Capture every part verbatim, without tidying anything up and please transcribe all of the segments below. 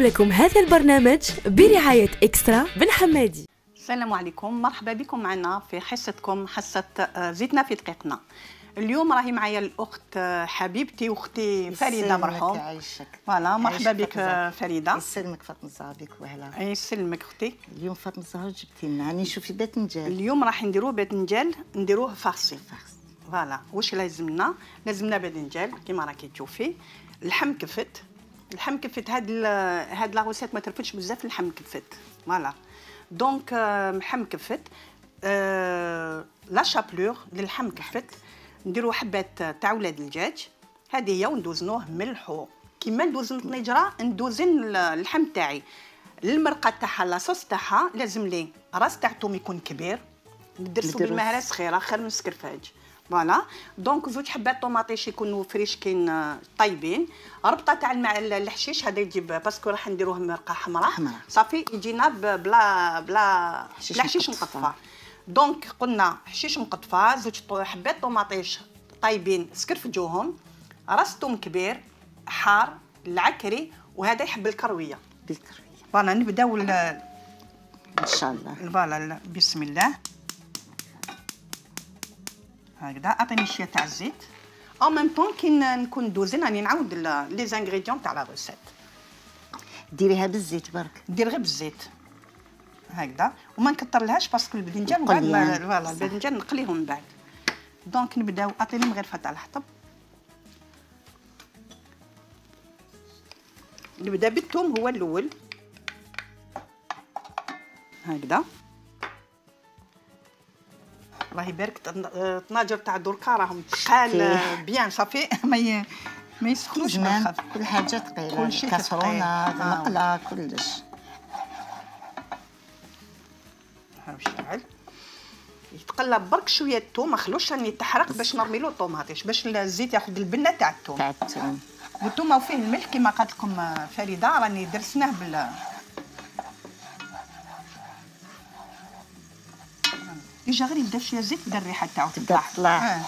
نقدم لكم هذا البرنامج برعاية إكسترا بن حمادي. السلام عليكم، مرحبا بكم معنا في حصتكم حصة زيتنا في دقيقنا. اليوم راهي معايا الأخت حبيبتي واختي فريدة مرحوم. يعيشك. فوالا مرحبا بك فريدة. يسلمك فاطمة الزهراء بك وهلا. يسلمك اختي. اليوم فاطمة الزهراء جبتي لنا راني نشوفي باذنجان. اليوم راح نديرو باذنجان نديروه فارسي. فوالا واش لازمنا؟ لازمنا باذنجان كيما راكي تشوفي، اللحم كفت. اللحم كفت هاد هاد لاغوسيت ما ترفدش بزاف اللحم كفت. فوالا دونك اللحم كفت. أه لا شابلور للحم كفت. نديرو حبات تاع ولاد الدجاج هذه هي وندوزنوه ملحو كيما ندوزن الطنجره. ندوزن اللحم تاعي المرقه تاعها لاصوص تاعها لازم لي راس تاع توم يكون كبير ندرسو بالمهره صغيره خير من السكرفاج. فوالا دونك زوج حبات طوماطيش يكونوا فريشكين طيبين. ربطه تاع الماء الحشيش هذا يجيب باسكو راح نديروه مرقه حمراء صافي يجينا بلا بلا حشيش مقطفه. دونك قلنا حشيش مقطفه، زوج حبات طوماطيش طايبين سكرفجوهم، راس توم كبير حار العكري، وهذا يحب الكرويه. بالكرويه فوالا نبداو ان شاء الله. فوالا بسم الله. هكذا اعطيني شويه تاع الزيت او ميم طون كي نكون ندوزن راني نعاود لي زانغريديون تاع لا روسيت. ديريها بالزيت برك. دير غير بالزيت هكذا وما نكثرلهاش باسكو الباذنجان بعد فوالا الباذنجان نقليهم من بعد. دونك نبداو اعطيني مغرفه تاع الحطب. نبدا بالثوم هو الاول هكذا. الله يبارك الطناجر تاع دركا راهم ثقال بيان صافي ما ما يسخنوش بالخف. كل حاجه ثقيله، كلشي كاسرونه المقله كلش. ها شعل يتقلب برك شويه الثوم، ما خلوش راني تحرق باش نرمي له الطوماطيش باش الزيت ياخذ البنه تاع الثوم. تاع الثوم والثوم وفيه الملح كما قالت لكم فريده راني درسناه بال ديجا غير يبدا شويه زيت بدا الريحه تاعو تبدا تطلع. آه.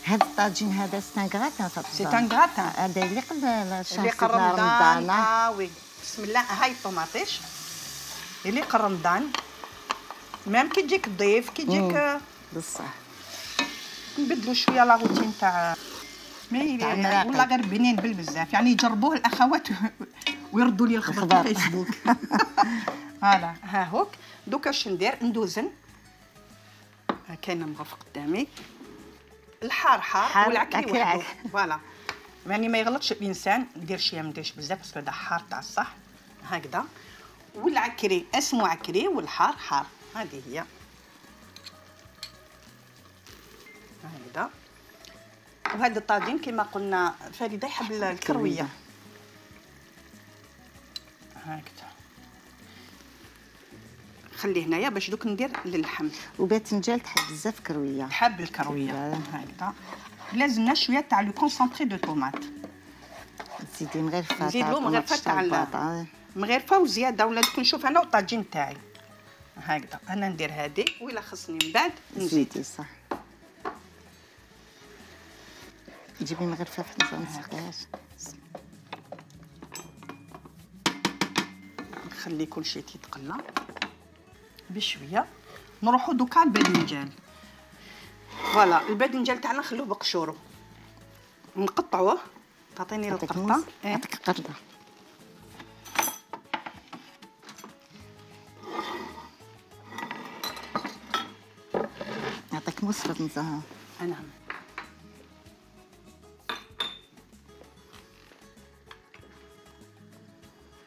هذا الطاجين هذا سي ان غراتان فاطمه. سي ان غراتان هذا يليق لشهر رمضان. اه وي بسم الله. هاي الطوماطيش يليق رمضان ميم كي تجيك ضيف كي تجيك بصح. نبدلوا شويه لا روتين تاع مي ولا غير بنين بالبزاف يعني يجربوه الاخوات ويردوا لي الخبر في فيسبوك. هذا ها هوك. دوكا اش ندير؟ ندوزن ها كاينه مغرفه قدامي. الحار حار والعكري وحده. فوالا يعني ما يغلطش الانسان. ندير شويه ما نديرش بزاف باسكو هذا حار تاع الصح هكذا. والعكري اسمه عكري والحار حار. هذه هي هكذا. وهذا الطاجين كما قلنا فريده يحب الكرويه هكذا. خليه هنايا باش دوك ندير للحم. وباذنجان تحب بزاف كرويه. تحب الكرويه هكذا. لازمنا شويه تاع لو كونسونطري دو طوماط. زيدي مغرفه. نزيد له مغرفه تاع مغرفه وزياده ولا دوك نشوف انا والطاجين تاعي هكذا. انا ندير هذه ولا خصني من بعد نزيد. زيدي صح. جيبي مغرفه في ما نسقيهاش. نخلي كل شيء يتقلى بشويه. نروحوا دوكا الباذنجان. فوالا الباذنجان تاعنا نخلوه بقشورو نقطعوه. تعطيني القرطه. نعطيك قرطه. نعطيك مصفى نزهه. نعم.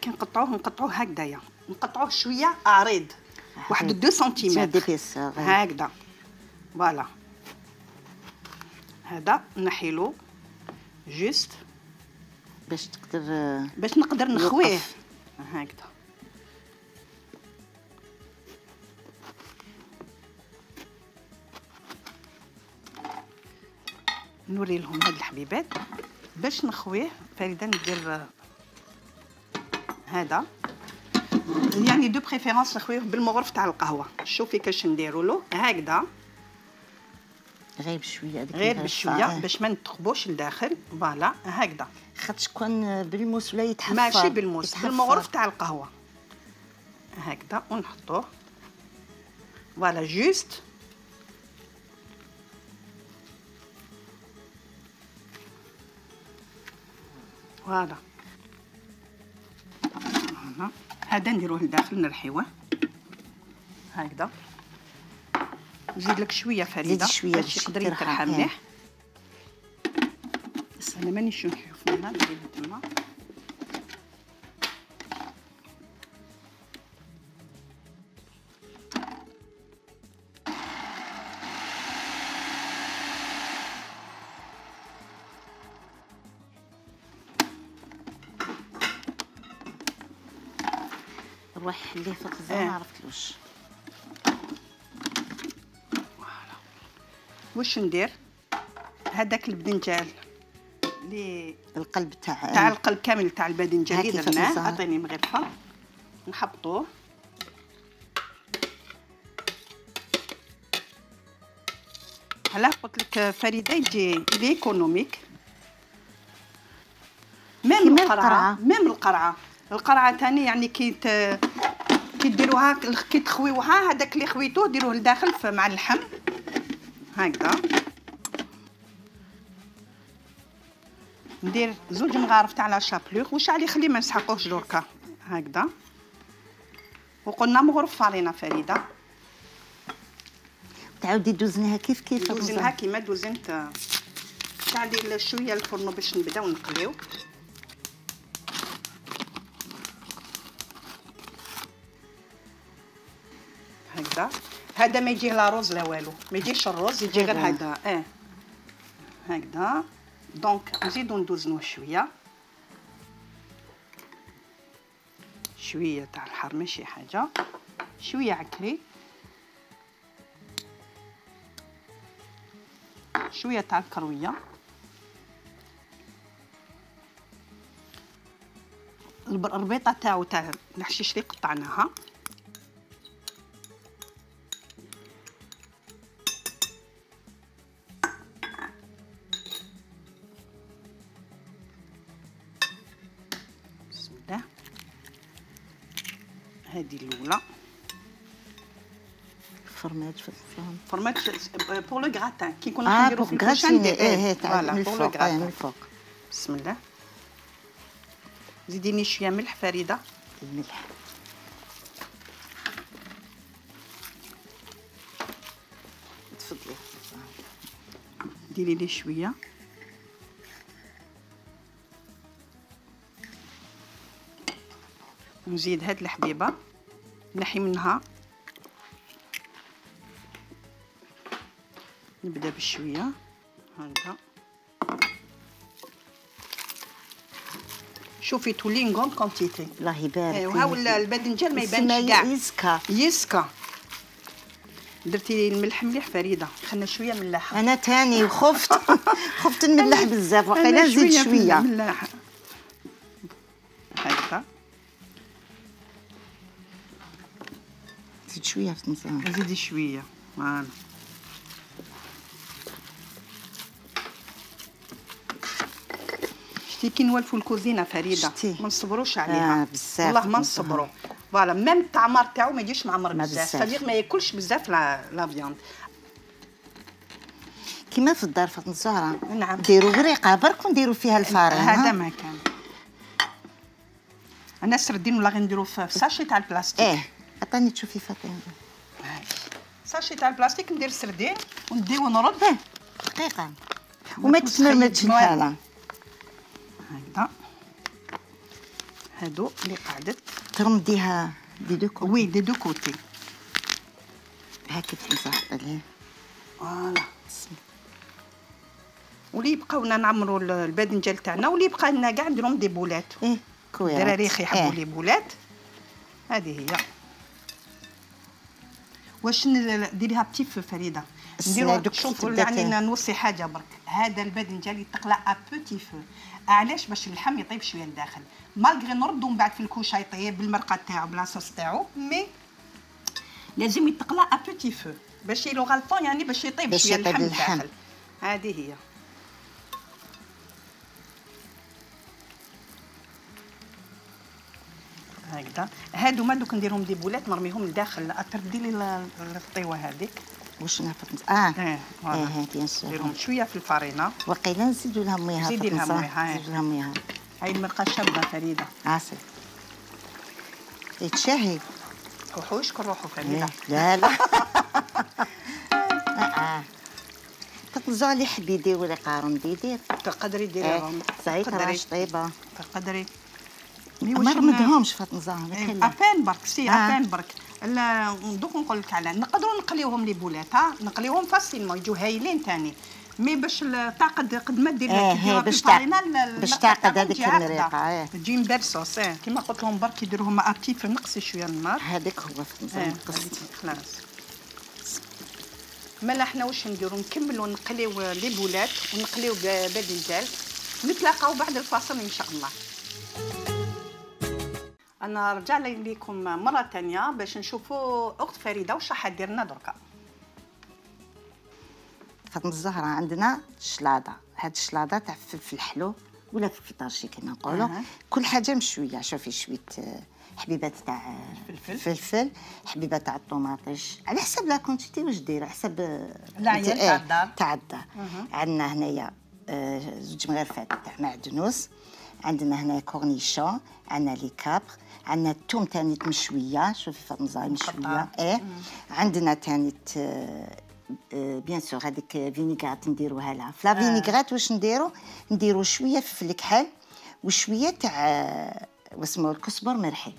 كي نقطعوه نقطعوه هكذايا نقطعوه شويه عريض واحد دو سنتيمتر هكذا. فوالا هذا نحيلو جوست باش تقدر باش نقدر نخويه هكذا. نوري لهم هاد الحبيبات باش نخويه. فريده ندير هذا يعني دو بريفيرونس نخويه بالمغرف تاع القهوه. شوفي كاش نديروا له هكذا غير بشويه هذيك غير بشويه باش ما نتخبوش لداخل. فوالا هكذا. خاطش كون بالموس ولا يتحفر. ماشي بالموس، بالمغرف تاع القهوه هكذا ونحطوه. فوالا جوست فوالا. هذا نديروه لداخل نرحيوه هكذا. نزيد لك شويه فريده باش يقدر يترحى مليح. بس انا مانيش نشوف منها نزيد تما. روح اللي في الخزانه ما عرفتلوش. واش ندير؟ هذاك البدنجال اللي القلب تاع تاع القلب كامل تاع الباذنجان اللي درناه، عطيني مغرفه نحبطوه. علاه قلت لك فريده يجي ليكونوميك. ميم القرعه ميم القرعه القرعه ثاني يعني كي كي ديروها كي تخويوها، هذاك اللي خويتوه ديروه لداخل مع اللحم هكذا. ندير زوج مغارف تاع لا شابلور. واش عليه خليه ما نسحقوهش دركا هكذا. وقلنا مغرف فارينه فريده. تعاودي دوزنيها كيف كيف؟ دوزنها كيما دوزنت. شعلي شويه الفرن باش نبداو نقليو. هكذا. هذا ما يجيه لا روز لا والو، ما يجيش الروز، يجي غير هذا. اه هكذا. دونك نزيدو ندوزنوه شويه شويه تاع الحار ماشي حاجه، شويه عكري، شويه تاع الكرويه، الربيطه تاعو تاع الحشيش اللي قطعناها، هذه الاولى. فرماج في الفرن. فرماج بور لو غراتان كي كنا نديرو في الكوشان. ايه فوالا من بور لو الفوق. من غراتان. الفوق. بسم الله. زيديني شويه ملح فريده. الملح. تفضلي. ديري لي شويه. نزيد هاد الحبيبه نحي منها. نبدا بشويه هكذا. شوفي تولي نكون كونتيتي. الله يبارك. ايوا هاو الباذنجان ما يبانش كاع. يسكا يسكا. درتي الملح مليح فريده. خلنا شويه ملاحه. انا تاني وخفت خفت نملح بزاف. وقيلا نزيد شويه ملاحه هكذا. زيد شويه في النص. زيدي شويه. فوالا. شتي كي نولفوا الكوزينه فريده ما نصبروش عليها. آه بزاف. والله ما نصبروا. فوالا ميم الطعمار تاعو ما يجيش معمر بزاف. صديق ما ياكلش بزاف لا لا فياند. كيما في الدار فاطمه الزهراء. نعم. نديروا غريقه برك ونديروا فيها الفارين. هذا ما كان. انا سردين ولا غنديروا في ساشي تاع البلاستيك. ايه عطاني تشوفي فاطمه. ساشي تاع البلاستيك ندير سردين ونديو ونرد. ايه دقيقه وما تتمرمدش الحاله. هكذا. هادو اللي قعدت ترمديها دي دو كوتي. وي دي دو كوتي هاكا تنصح عليه. فوالا. واللي يبقاونا نعمروا الباذنجان تاعنا واللي يبقى لنا كاع نديرهم دي بولات. ايه كويس. الدراري يحبوا إيه. لي بولات. هذه هي. واش نديريها بتي فو فريده. نديرو شوفوا يعني نوصي حاجه برك. هذا الباذنجان يتقلى ا بوتي فو. علاش؟ باش اللحم يطيب شويه لداخل. مالغري نردو من بعد في الكوشه يطيب بالمرقه تاعو بلاصوص تاعو. مي لازم يتقلى ا بوتي فو باش يلو غالطون، يعني باش يطيب شويه اللحم داخل. هذه هي. هكذا هادو ما دوك نديرهم دي بولات نرميهم لداخل. تردي لي الطيوه هذيك واش نعرف. اه اه اه بيان سور. نديرهم شويه في الفرينه. وقيلا نزيدوا لها ميها. زيدي لها ميها. نزيدوا لها ميها. هاي المرقه شابه فريده. عسل يتشهي. روحوش كنروحوا فريده. لا لا اه تقزع لي حبي يدير ولا قارن بيدير. تقدري ديريهم. صعيب راش طيبه. تقدري ما رمدهمش فاطمه زهره. ابان برك سي ابان برك. لا دوك نقول لك على نقدروا نقليوهم لي بولات. ها نقليوهم فاسيلمون يجوا هايلين ثاني. مي باش تعقد قد ما دير لك باش تعقد باش تعقد هذيك المريقه تجي مبرصوص. كيما قلت لهم برك يديروهم ابتي نقصي شويه النار. هذاك هو نقص خلاص. مالا حنا واش نديرو نكملوا نقليو لي بولات ونقليو باذنجان. نتلاقاو بعد الفاصل ان شاء الله. انا رجع لكم مره ثانيه باش نشوفوا اخت فريده واش راح دير لنا دركا. فاطمه الزهراء عندنا شلاضه. هاد الشلاضه تاع فلفل حلو ولا فلفل طرشي كما نقولوا. أه. كل حاجه مشويه. شوفي شويه حبيبات تاع الفلفل، حبيبه تاع الطوماطيش على حسب لا كونتيتي واش دايره، حسب العيان تاع الدار تاع الدار. عندنا هنايا زوج مغرفات تاع معدنوس، عندنا هنا كورنيشون، عندنا لي كابر، عندنا الثوم ثاني مشويه. شوفي فاطمه زهراء مشويه. ايه عندنا ثاني بيان سور هذيك فينيغرات نديروها لها. في لا فينيغرات واش نديرو؟ نديرو شويه فلفل الكحل وشويه تاع واسمو الكزبر مرحي.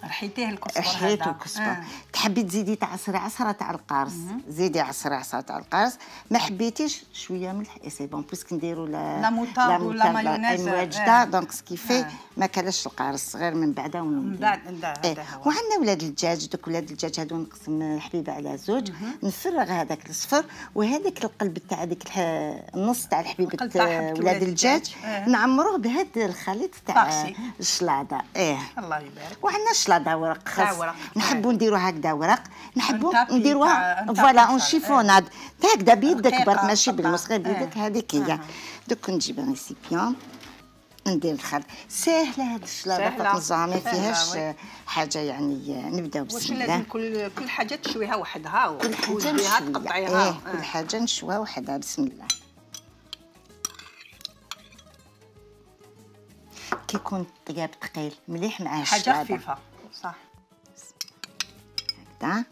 رحيتيه الكزبر هذا. رحيتو الكزبر. آه. تحبي تزيدي تعصري عصره تاع القارص زيدي عصري عصره تاع القارص. ما حبيتيش شويه ملح اي سي بون بويسك نديرو لا لا موطارد ولا مايونيز المواجده. دونك سكيفي ما كلاش القارص غير من بعدا من بعد. إيه. وعندنا ولاد الدجاج. دوك ولاد الدجاج هادو نقسم حبيبه على زوج. نفرغ هذاك الصفر وهذاك القلب تاع هذيك النص تاع الحبيبه ولاد الدجاج نعمروه بهذا الخليط تاع الشلاضه. ايه الله يبارك. وعندنا شلاضه ورق خاص. نحبوا نديروها هكذا ورق، نحبوا نديروها فوالا اون شيفوناد هكذا بيدك برك ماشي بالمسخ بيدك. هذيك هي. دوك نجيب ريسيبيون ندير الخل. ساهله هاد الشلاضه فاطمه الزهراء ما فيهاش حاجه يعني. نبداو بسم الله. واش لازم كل كل حاجه تشويها وحدها كل حاجه نشويها تقطعيها. إيه. كل حاجه نشويها وحدها. بسم الله. كيكون الطياب ثقيل مليح مع الشلاضه. حاجه خفيفه صح. هكذا.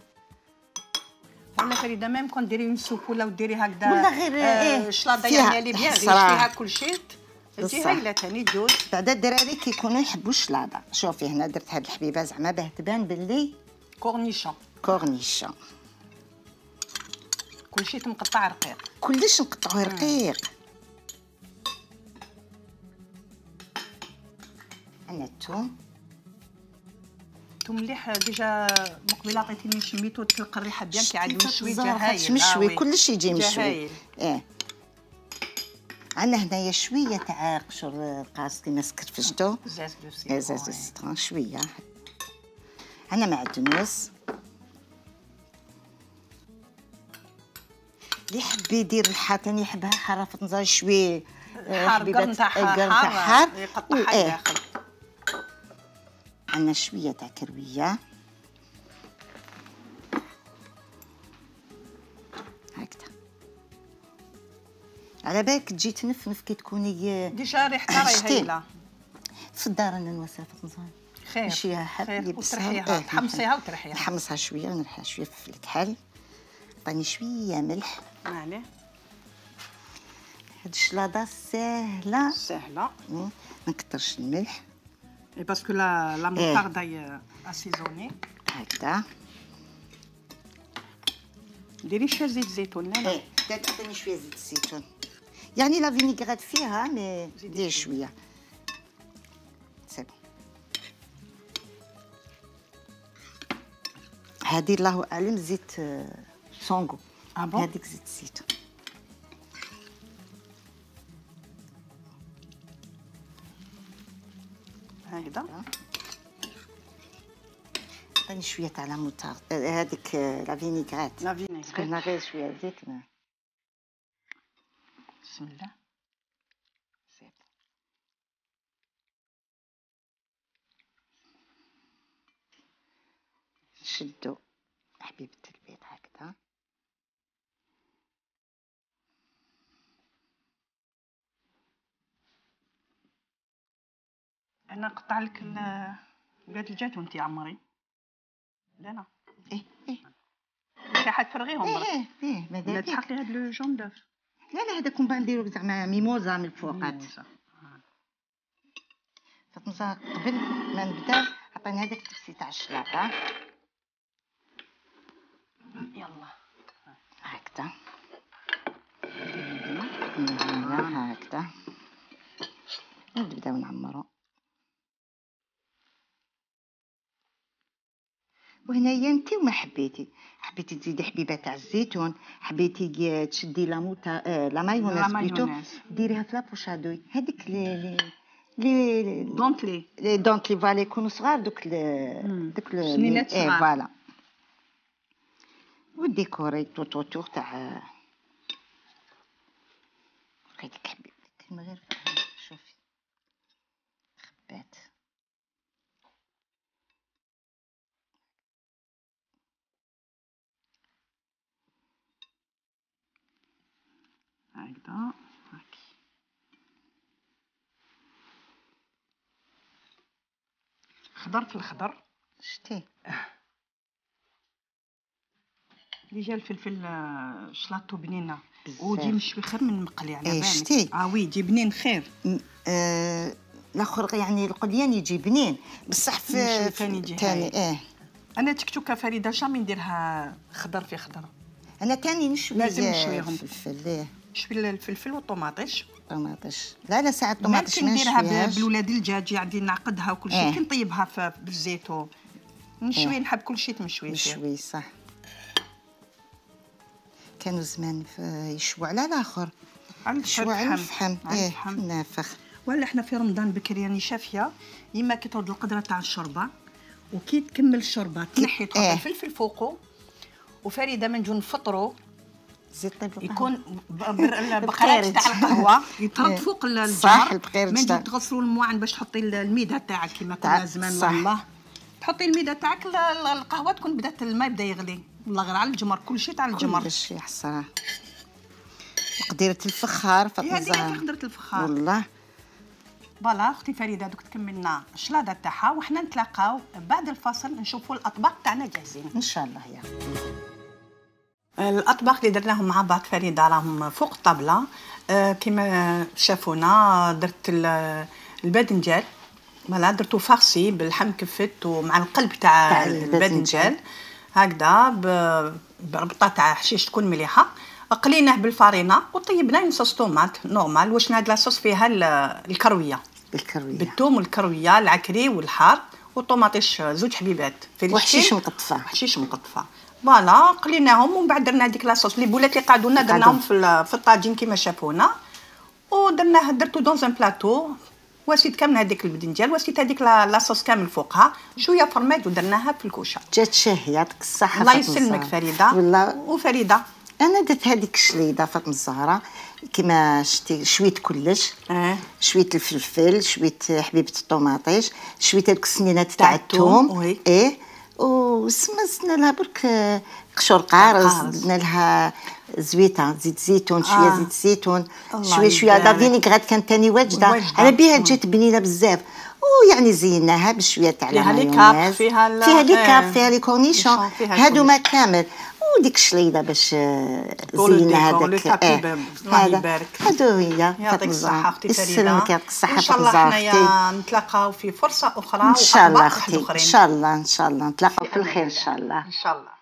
ولا فريده ميم كون ديري اون سوب ولا ديري هكذا ولا غير ايه الشلاضه يعني اللي بيان غير فيها كل شيء تجي هايله ثاني جوج. بعدا الدراري كيكونوا يحبوا الشلاضه. شوفي هنا درت هاد الحبيبه زعما باه تبان باللي كورنيشون. كورنيشون كل شيء مقطع رقيق. كلش نقطعوه رقيق. عندنا الثوم. الثوم مليح ديجا مقبله عطيتيني شميتو تلقى الريحه بيان كي عاد مشوي. جا هايل مشوي كلشي يجي مشوي. ايه عندنا هنايا شويه تاع قشر القارص كيما سكرفجتو. زاز دو سيترون. زاز دو سيترون شويه. عندنا معدنوس. اللي يحب يدير الحار ثاني يحبها حاره فطنزه شويه حار قرن تاع حار يقطعها داخل. عندنا شويه تاع كرويه هكذا. على بالك تجي تنفنف كي تكوني ديجا ريحتها راهي هايله. في الدار انا نواسها في الزهر خير نشيها حب وترحيها تحمصيها وترحيها. نحمصها شويه ونرحيها شويه في الكحل. عطيني شويه ملح. عليه. هاد الشلاضه ساهله ساهله. ما نكثرش الملح باسكو لا لا موطارد هي اسيزوني هكذا. ديري شويه زيت زيتون. لا ايه تعطيني شويه زيت الزيتون يعني لا فينيغرات فيها مي دير شويه سي بون. هذه الله اعلم زيت سونغو. اه بون. هذيك زيت الزيتون. هكذا. عطيني شويه تاع لا موتار هذيك لا فينيغريت لا فينيغريت هنا غير شويه زيت. بسم الله. نشدو حبيبه البيض هكذا. انا نقطع لك الباذنجان وانت عمري. لا لا ايه ايه ماشي حتفرغيهم برك. ايه ايه ماذا لا بيك. تحط لي هاد لو جون دوف. لا لا هذاك من بعد نديرو زعما ميموزا من الفوقات. فاطمه زهر قبل ما نبدا عطيني هذاك التفسي تاع الشلاطه. يلا هكذا هنا هكذا نبداو نعمرو. وهنايا انت وما حبيتي حبيتي تزيدي حبيبه تاع الزيتون، حبيتي تشدي لا موتا آه لا مايونيز بليتو ديريها في لابوشادوي هذيك لي لي دونتلي لي دونتلي فالي يكونوا صغار دوك دوك سنينات صغار. ايه فوالا. وديكوري تو تو تو تاع هذيك حبيبتي من غير شوفي خبات. هكذا هاكي خضر في الخضر. شتي اللي جا الفلفل شلاطو بنينه ويجي مشوي خير من مقلي على إيه بالك. شتي. اه وي يجي بنين خير. آه الاخر يعني القليان يجي بنين بصح في ثاني يجي ثاني. ايه انا تكتوكه فريده جامي نديرها خضر في خضر. انا تاني نشوي لازم نشويهم. الفلفل. ايه نشوي الفلفل والطوماطيش. طوماطيش لا لا ساعه الطوماطيش ما ما نديرها نشويهاش. بالولاد الدجاج عندي نعقدها وكل شيء. إيه. كي نطيبها في بالزيت نشوي. إيه. نحب كل شيء تمشوي مشوي صح. كانوا زمان يشووا على الاخر يشووا على الفحم. ايه نافخ. ولا احنا في رمضان بكري راني شافيه يما كي تعود القدره تاع الشوربه وكي تكمل الشوربه تنحي تحط إيه. الفلفل فوقه. وفريده من نجو نفطروا زيت طيب يكون البقرات تاع القهوه يطرد فوق الجمر. صح البقير من نجو تغسلوا المواعن باش تحطي الميده تاعك كيما كنا زمان. والله تحطي الميده تاعك القهوه تكون بدات الماء بدا يغلي. والله غير على الجمر كل شيء تاع الجمر. كل شيء الصراحه. وقديره الفخار فاطمه هذه زهر. قدره الفخار والله. فوالا اختي فريده دوك تكملنا الشلاضه تاعها وحنا نتلاقاو بعد الفاصل نشوفوا الاطباق تاعنا جاهزين ان شاء الله. يا الاطباق اللي درناهم مع بعض فريده راهم فوق الطابله. آه كما شافونا درت الباذنجان فوالا درتو فارسي باللحم كفت ومع القلب تاع الباذنجان هكذا بربطه تاع حشيش تكون مليحه. قليناه بالفارينه وطيبناه نصوص طوماط نورمال. واش هاد لاصوص فيها الكرويه بالكرويه بالثوم والكرويه العكري والحار والطوماطيش زوج حبيبات في وحشيش مقطفه. حشيش مقطفه فوالا قليناهم ومن بعد درنا هذيك لاصوص لي بولات اللي قعدوا لنا درناهم في في الطاجين كما شافونا ودرناه درتو دون ان بلاطو. واسيت كامل هذيك البدنجان واسيت هذيك لاصوص كامل فوقها شويه فرمات ودرناها في الكوشه. جات شهيه يعطيك الصحه. الله يسلمك فريده. والله وفريده انا درت هذيك الشليضه فاطمه الزهراء كما شتي شويه كلش. اه شويه الفلفل شويه حبيبه الطوماطيش شويه هذوك السنينات تاع الثوم. ايه وسما زدنا لها برك قشور قارص زدنا لها زويته زيت زيتون شويه آه. زيت زيتون شويه شويه لا فينيغريت كانت ثاني واجده على بها جات بنينه بزاف. ويعني زيناها بشويه تاع فيها لي كاب فيها فيها لي كاب فيها لي كورنيشون هادو ما كامل. وديك الشليضه باش زينا هذاك. اه الله يبارك. هادو هي يعطيك الصحه اختي فريده. يسلمك يعطيك الصحه. ان شاء الله حنايا نتلاقاو في فرصه اخرى ان شاء الله اختي. ان شاء الله ان شاء الله نتلاقاو في الخير ان شاء الله. ان شاء الله.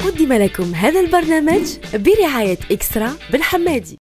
قدم قدم لكم هذا البرنامج برعاية إكسترا بن حمادي.